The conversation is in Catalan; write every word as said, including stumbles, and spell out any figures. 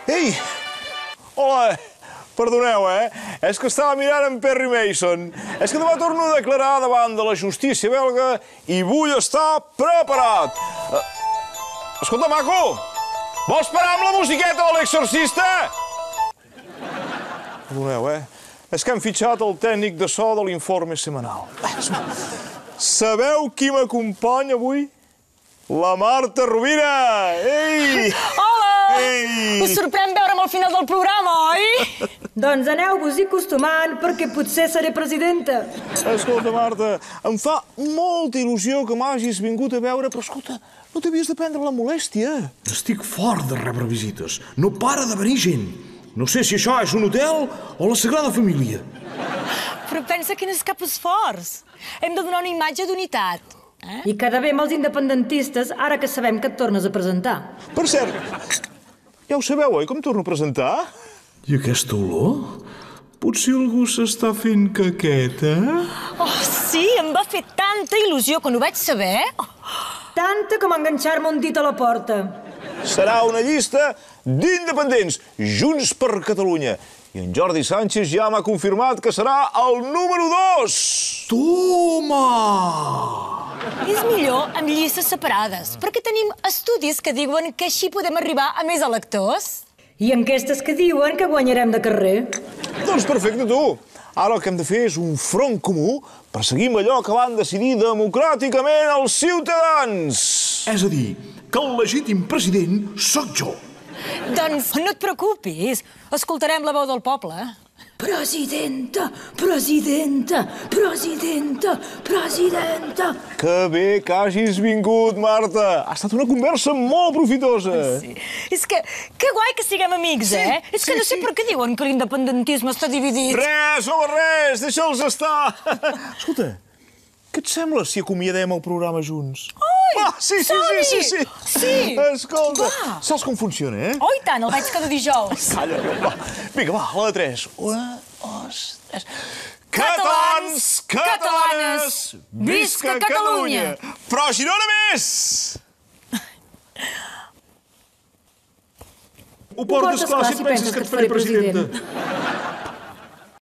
Ei! Hola! Perdoneu, eh? És que estava mirant en Perry Mason. És que demà torno a declarar davant de la justícia belga i vull estar preparat. Uh, escolta, maco! Vols parar amb la musiqueta de l'exorcista? Perdoneu, eh? És que hem fitxat el tècnic de so de l'informe setmanal. Sabeu qui m'acompanya avui? La Marta Rovira! Ei! Hola! Ei! Us sorprèn veure'm al final del programa, oi? Doncs aneu-vos-hi acostumant, perquè potser seré presidenta. Escolta, Marta, em fa molta il·lusió que m'hagis vingut a veure, però escolta, no t'havies de prendre la molèstia. Estic fort de rebre visites. No para de venir gent. No sé si això és un hotel o la Sagrada Família. Però pensa que no és cap esforç. Hem de donar una imatge d'unitat. Eh? I quedar bé amb els independentistes, ara que sabem que et tornes a presentar. Per cert, ja ho sabeu, oi, com torno a presentar? I aquesta olor? Potser algú s'està fent caqueta? Oh, sí, em va fer tanta il·lusió quan ho vaig saber. Tanta com enganxar-me un dit a la porta. Serà una llista d'independents, Junts per Catalunya. I en Jordi Sánchez ja m'ha confirmat que serà el número dos. Toma! És millor amb llistes separades, perquè tenim estudis que diuen que així podem arribar a més electors. I enquestes que diuen que guanyarem de carrer. Doncs perfecte, tu. Ara el que hem de fer és un front comú per seguir amb allò que van decidir democràticament els ciutadans. És a dir, que el legítim president sóc jo. Doncs no et preocupis, escoltarem la veu del poble. Presidenta, presidenta, presidenta, presidenta. Que bé que hagis vingut, Marta. Ha estat una conversa molt profitosa. Sí. És que, que guai que siguem amics, Sí, eh? És que sí, no sé sí. per què diuen que l'independentisme està dividit. Res, home, res, deixa'ls estar. Escolta, què et sembla si acomiadem el programa junts? Oi, Ah, sí, sí, sí, sí, sí. Sí. Escolta, Va. saps com funciona, eh? Oh, i tant, el veig cada dijous. Calla, va. Vinga, va, a la de tres. Una, dos, tres. Catalans, catalanes, visca Catalunya! Però Girona més! Ho portes clar si penses que et faré presidenta.